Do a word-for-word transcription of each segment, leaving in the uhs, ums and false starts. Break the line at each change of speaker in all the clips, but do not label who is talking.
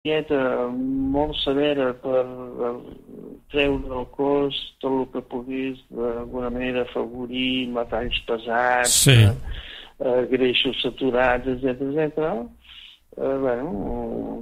dieta molt severa per treure el cos tot el que pogués d'alguna manera afavorir metalls pesats,
sí.
eh, greixos saturats, etcètera, etcètera. Eh, bueno,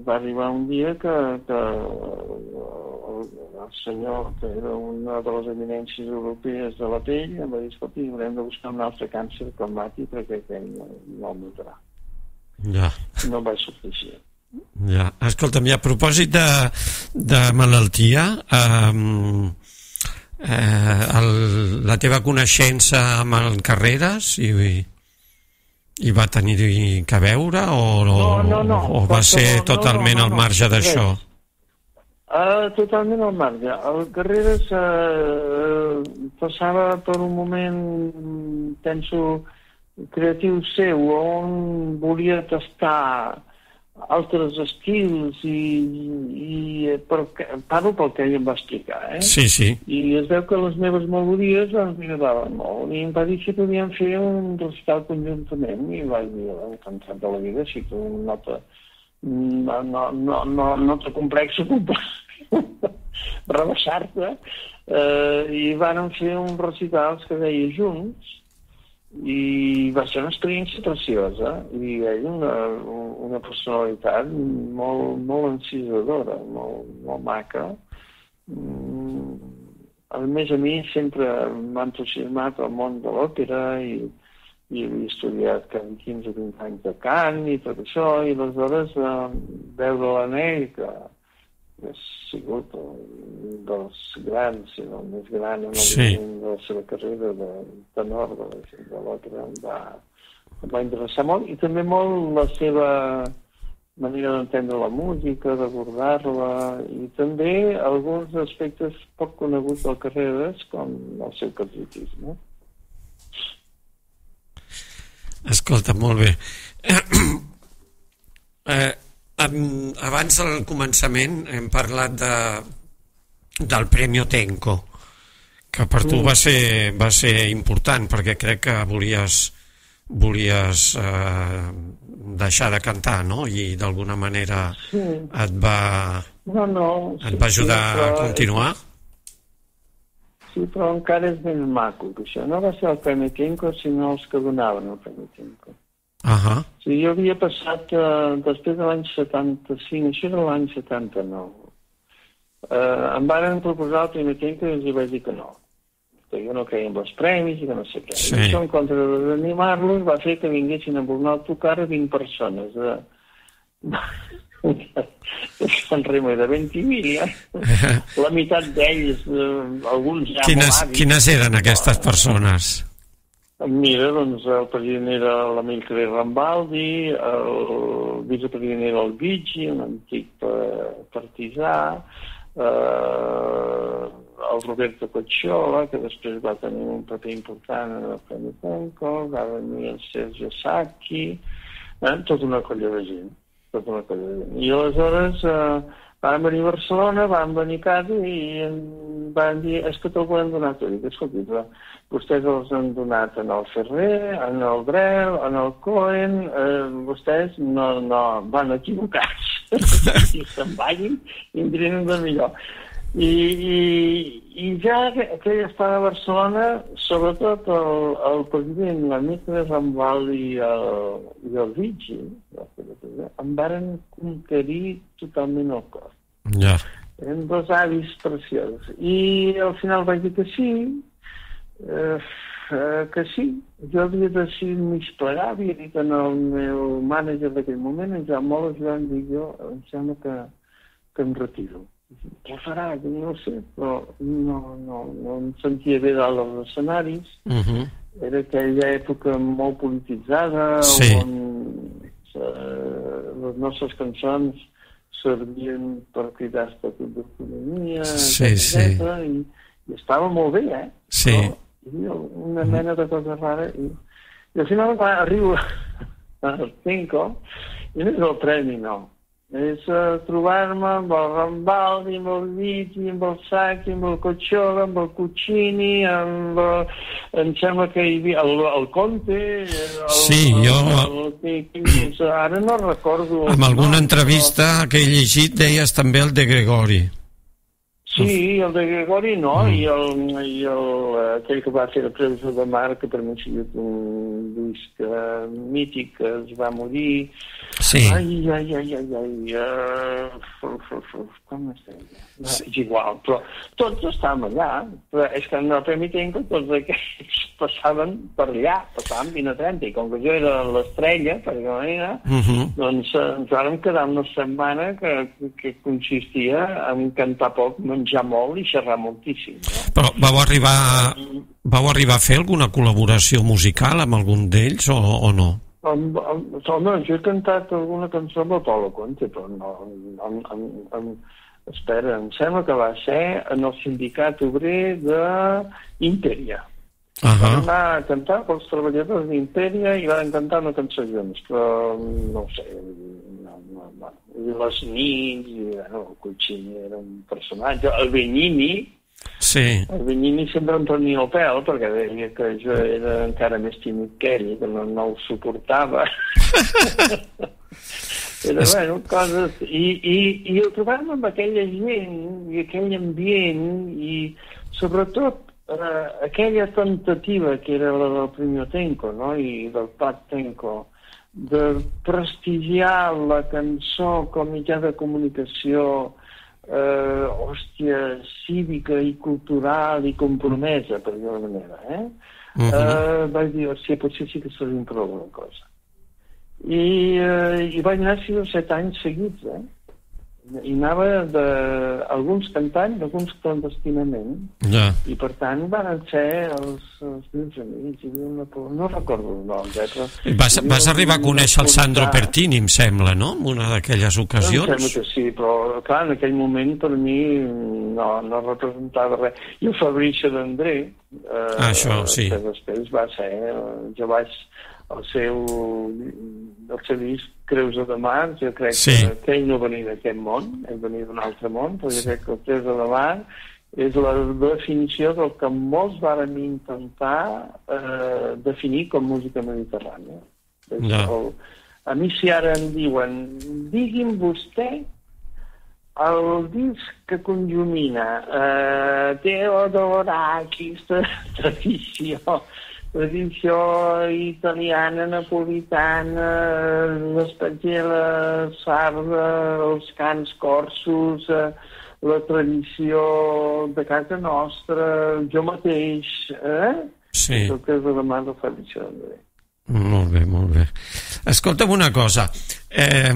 va arribar un dia que, que el, el senyor, que era una de les eminències europees de la pell, em va dir, escolta, haurem de buscar un altre càncer climàtic perquè aquell no, no el matarà.
Ja.
No va sortir així.
Ja. Escolta'm, i a propòsit de, de malaltia, eh, eh, el, la teva coneixença amb el Carreras i, i va tenir que veure o,
no, no, no.
o va ser no, totalment no, no, no, al marge d'això?
Uh, totalment al marge. El Carreras uh, passava per un moment, penso, creatiu seu, on volia tastar altres estils i, i per, parlo pel que ell em va explicar, eh?
Sí, sí.
I es veu que les meves melodies ens agradaven molt i em va dir si podíem fer un recital conjuntament i vaig dir, encantat de la vida, si tu no te no, no, no, no, no te complexa rebaixar-te, eh, i van fer un recital que deia Junts i va ser una experiència preciosa i ell una, una personalitat molt, molt encisadora, molt, molt maca. A més, a mi sempre m'ha entusiasmat el món de l'òpera i, i havia estudiat quinze o vint anys de cant i tot això, i aleshores eh, veure l'Anell, que ha sigut un dels grans, si no el més gran en el
sí.
moment de la seva carrera de tenor de, de l'òpera, em va, em va interessar molt, i també molt la seva manera d'entendre la música, d'abordar-la, i també alguns aspectes poc coneguts del Carreras, com el seu capacitisme.
Escolta, molt bé. eh, abans del començament hem parlat de, del Premi Tenco, que per tu va ser, va ser important perquè crec que volies volies eh, deixar de cantar, no? I d'alguna manera
sí.
et va
no, no, sí,
et va ajudar
sí, però,
a continuar.
Sí, però encara és més maco que això. No va ser el Premi Tenco, sinó els que donaven el Premi Tenco.
Uh-huh.
Sí, jo havia passat, eh, després de l'any setanta-cinc, això era l'any setanta-nou, eh, em varen proposar el Premi Tenco i els vaig dir que no, que jo no creia en els premis i que no sé què.
Sí.
I això, en contra d'animar-los, va fer que vinguessin a voler tocar a vint persones de, de Sant Remo i de Ventimiglia, la meitat d'ells, eh, alguns ja
quines,
molt avis.
Quines eren aquestes persones?
Mira, doncs el president era l'Amilcare Rambaldi, el vicepresident era el Viggi, un antic partisà, eh, el Roberto Cocciola, que després va tenir un paper important en el Premi Tenco, va venir el Sergio Sacchi, eh, tota una colla de gent, tota una colla de gent. I aleshores eh, van venir a Barcelona, van venir a casa i van dir, és que te'l volem donar tot. I dic, escolti, però vostès els han donat en el Ferrer, en el Brel, en el Cohen, eh, vostès no, no van equivocats. Si se'n vagin, vindrien de millor. I, i, i ja que, que ell estava a Barcelona, sobretot el, el president, l'amic de Rambal i el, i el Viggi, em varen conquerir totalment el cor.
Ja.
Eren dos avis preciosos. I al final vaig dir que sí, Eh, eh, que sí, jo havia decidit m'esplegar, havia dit en el meu mànager d'aquell moment, en Joan Moles, Joan, dic jo, em sembla que, que em retiro. Què farà? No ho sé, però no, no, no em sentia bé dalt dels escenaris.
Uh-huh.
Era aquella època molt polititzada,
sí.
on eh, les nostres cançons servien per cridar estatut d'autonomia,
sí,
etcètera,
sí.
i, i estava molt bé, eh?
Sí.
Però, una mena de cosa rara i, i al final va arribar al Tenco i no és el premi, no, És uh, trobar-me amb el Rambaldi, amb el Viti, amb el Sacchi, amb el Cocciola, amb el Cuccini, amb el... em sembla que hi havia el, el Conte... El,
sí,
el,
jo...
El, el, el, ara no recordo...
Amb alguna
no,
entrevista però... que he llegit deies també el de Gregori.
Sí, el de Gregori no, mm. i, el, i el, aquell que va fer el Preus de Mar, que per mi ha sigut un disc uh, mític, que es va morir.
Sí.
Ai, ai, ai, ai, ai, uh, com es deia? No, sí. És igual, però tots estàvem allà, però és que en el Premi Tenco tots aquells passaven per allà, passaven vint a trenta, i com que jo era l'estrella, per alguna manera, uh -huh. doncs ens vam quedar una setmana que, que consistia en cantar poc, menjar molt i xerrar moltíssim. No?
Però vau arribar, vau arribar a fer alguna col·laboració musical amb algun d'ells o, o no?
Amb, amb, home, jo he cantat alguna cançó amb el Paulo Conte, però no... Amb, amb, amb, espera, em sembla que va ser en el sindicat obrer d'Imperia. Uh -huh. Van anar a cantar pels treballadors d'Imperia i van cantar una cançó junts, però no ho sé, no, no, no. I les nits, i bueno, el Cuccini era un personatge, el Benigni,
sí.
El Benigni sempre em prenia el pèl perquè deia que jo era encara més tímid que ell, que no, no ho suportava. Era, bueno, coses... I, i, i el trobar-me amb aquella gent i aquell ambient i, sobretot, eh, aquella tentativa que era la del Premio Tenco, no?, i del Pat Tenco, de prestigiar la cançó com mitjà de comunicació eh, hòstia, cívica i cultural i compromesa, per dir-ho d'una manera, eh? Uh-huh. eh? Vaig dir, hòstia, potser sí que seria prou alguna cosa. I, eh, i vaig anar sis o set anys seguits, eh? I anava de... alguns cantant, alguns clandestinament,
ja.
I per tant van ser els, els meus amics, i una... no recordo el nom, eh? Però...
Vas, vas arribar a conèixer el Sandro Pertini, em sembla, no?, en una d'aquelles ocasions.
Em sembla que sí, però clar, en aquell moment per mi no, no representava res. I el Fabrizio d'André, eh,
ah, això, sí.
que després va ser... jo vaig... el seu, el seu disc Creus de Mar, jo crec sí. que, que ell no venia d'aquest món, ell venia d'un altre món, però jo crec que el Creus de Mar és la definició del que molts vàrem intentar eh, definir com música mediterrània. No. El, a mi si ara em diuen, digui'm vostè el disc que conjumina eh, Teodorakis, tradició, tradició italiana, napolitana, l'espatgela sarda, els cants corsos, la tradició de casa nostra, jo mateix, eh?
Sí.
El que és la mà del Fabrizio d'André.
Molt bé, molt bé. Escolta'm una cosa. Eh,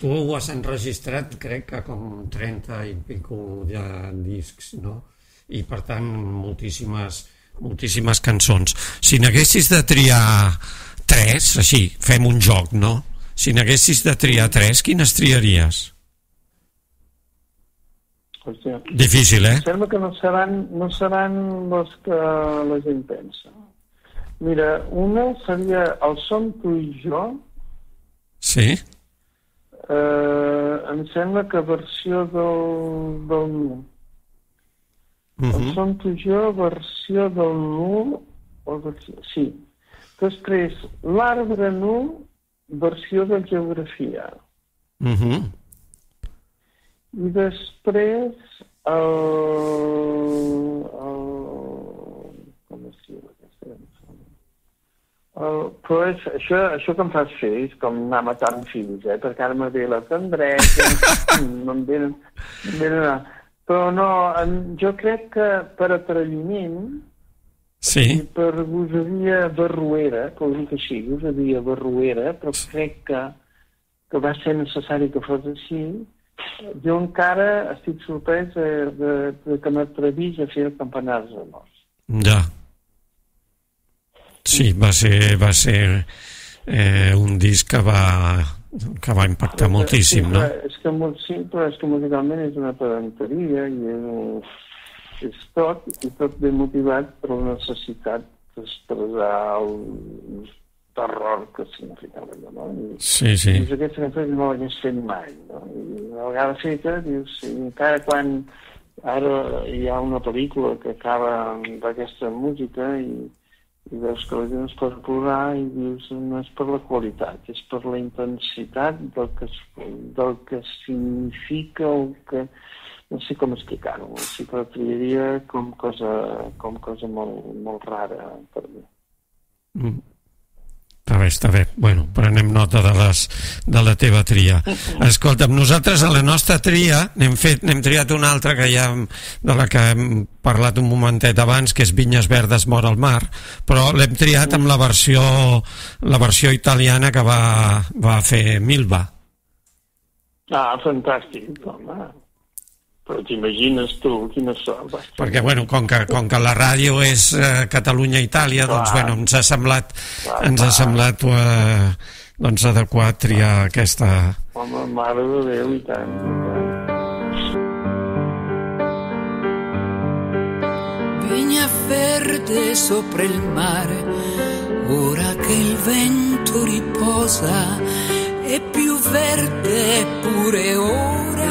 tu ho has enregistrat, crec que com trenta i pico de discs, no? I per tant, moltíssimes... moltíssimes cançons. Si n'haguessis de triar tres, així, fem un joc, no? Si n'haguessis de triar tres, quines triaries?
Hòstia.
Difícil, eh?
Em sembla que no seran, no seran les que la gent pensa. Mira, una seria El som tu i jo.
Sí?
Eh, em sembla que versió del, del nu. Uh-huh. El som tu i jo, versió del nu, o versió, sí. Després, l'arbre nu, versió de geografia.
Uh-huh.
I després, el... el com es diu aquesta cançó? El, però és, això, això que em fas fer és com anar matant fills, eh? Perquè ara me ve la tendresa, no em venen... No em venen però no, jo crec que per atreviment,
sí.
I per gosadia barruera, que ho dic així, gosadia barruera, però crec que, que va ser necessari que fos així, jo encara estic sorprès de, de, de que m'atrevís a fer el Campanars de Mos.
Ja. Sí, va ser, va ser eh, un disc que va... que va impactar
sí,
moltíssim,
sí,
no?
És que, sí, però és que musicalment és una pedanteria i és, és tot, i tot ben motivat per la necessitat d'expressar el, terror que significava allò, no? I,
sí, sí.
I aquesta cançó no l'hagués fet mai, no? I una vegada feta, dius, i encara quan ara hi ha una pel·lícula que acaba amb aquesta música i, i veus que la gent es pot plorar i dius, no és per la qualitat, és per la intensitat del que, del que significa o que... No sé com explicar-ho, sí que la triaria com cosa, com cosa molt, molt rara per mi.
Mm. Està bé, està bé. Bueno, prenem nota de, les, de la teva tria. Escolta'm, nosaltres a la nostra tria n'hem fet, n'hem triat una altra que ja, de la que hem parlat un momentet abans, que és Vinyes verdes mor al mar, però l'hem triat amb la versió, la versió italiana que va, va fer Milva.
Ah, fantàstic, home. Però t'imagines tu, quina sort.
Perquè, bueno, com que, com que la ràdio és eh, Catalunya-Itàlia, doncs, bueno, ens ha semblat, clar, ens ha semblat eh, doncs, adequat triar aquesta...
Home, mare de Déu, i tant, i
tant. Vigna verde sopra il mare, ora che il vento riposa, è più verde pure ora,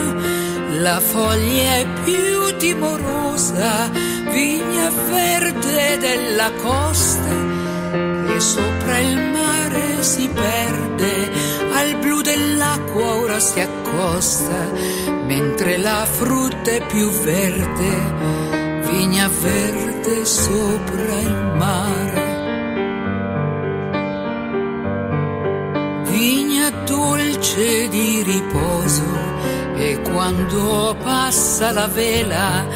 la foglia è più timorosa, vigna verde della costa, che sopra il mare si perde, al blu dell'acqua ora si accosta, mentre la frutta è più verde, vigna verde sopra il mare. Vigna dolce di riposo, e quando passa la vela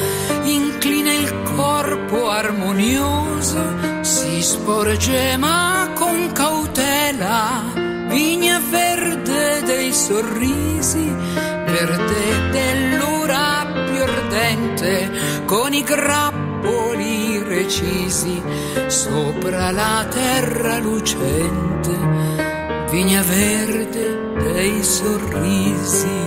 inclina il corpo armonioso, si sporge ma con cautela, vigna verde dei sorrisi, verde dell'ora più ardente, con i grappoli recisi sopra la terra lucente, vigna verde dei sorrisi.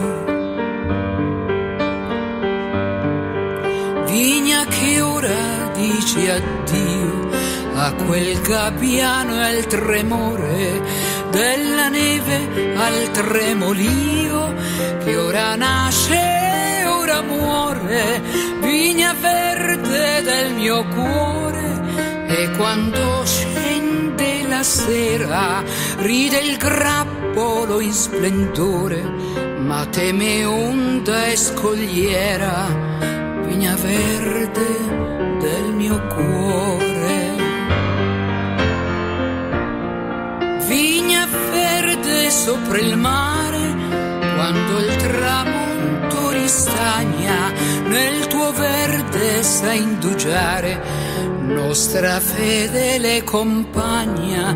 Vigna che ora dici addio a quel gabbiano e al tremore della neve, al tremolio che ora nasce e ora muore, vigna verde del mio cuore, e quando scende la sera ride il grappolo in splendore, ma teme onda e scogliera, vigna verde del mio cuore. Vigna verde sopra il mare, quando il tramonto ristagna, nel tuo verde sa indugiare, nostra fedele compagna,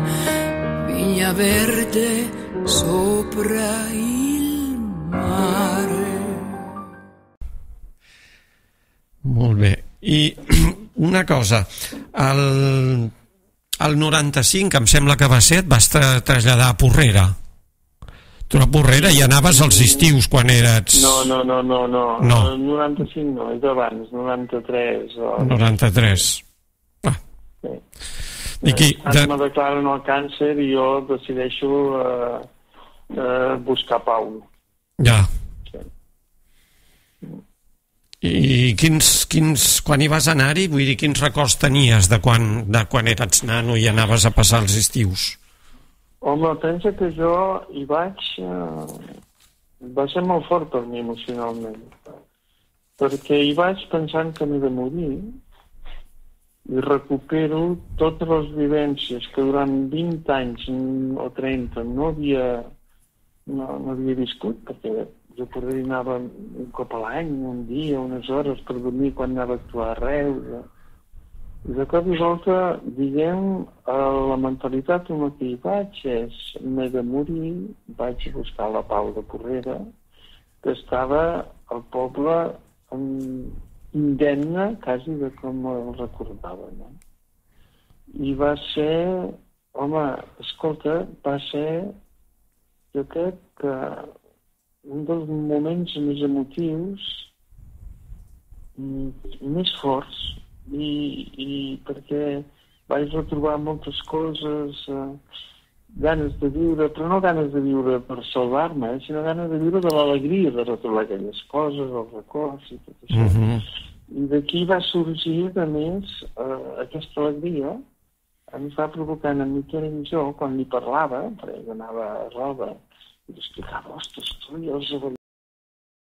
vigna verde sopra il mare.
Molt bé. I una cosa, el, el noranta-cinc, em sembla que va ser, et vas tra traslladar a Porrera. Tu a Porrera hi anaves als estius quan eres...
No, no, no, no, no.
no.
El noranta-cinc no, és abans, noranta-tres. O...
noranta-tres. Ah.
Sí.
I qui...
Ara me declaren el càncer i jo decideixo eh, eh, buscar pau.
Ja. I quins, quins, quan hi vas anar-hi, vull dir, quins records tenies de quan, de quan eres nano i anaves a passar els estius?
Home, pensa que jo hi vaig... Eh, va ser molt fort per mi emocionalment, perquè hi vaig pensant que m'he de morir i recupero totes les vivències que durant vint anys o trenta no havia, no, no havia viscut, perquè jo per dir anava un cop a l'any, un dia, unes hores per dormir quan anava a actuar a Reus. I de cop i volta, diguem, la mentalitat amb la que hi vaig és m'he de morir, vaig a buscar la Pau de Porrera, que estava al poble indemne, quasi de com el recordava, no? I va ser, home, escolta, va ser, jo crec que un dels moments més emotius, més forts, i, i perquè vaig retrobar moltes coses, eh, ganes de viure, però no ganes de viure per salvar-me, eh, sinó ganes de viure de l'alegria de retrobar aquelles coses, els records i tot això.
Uh-huh.
I d'aquí va sorgir, a més, eh, aquesta alegria em va provocant en Miquel i jo, quan li parlava, perquè ell anava a roda, i li explicava, ostres, tu i els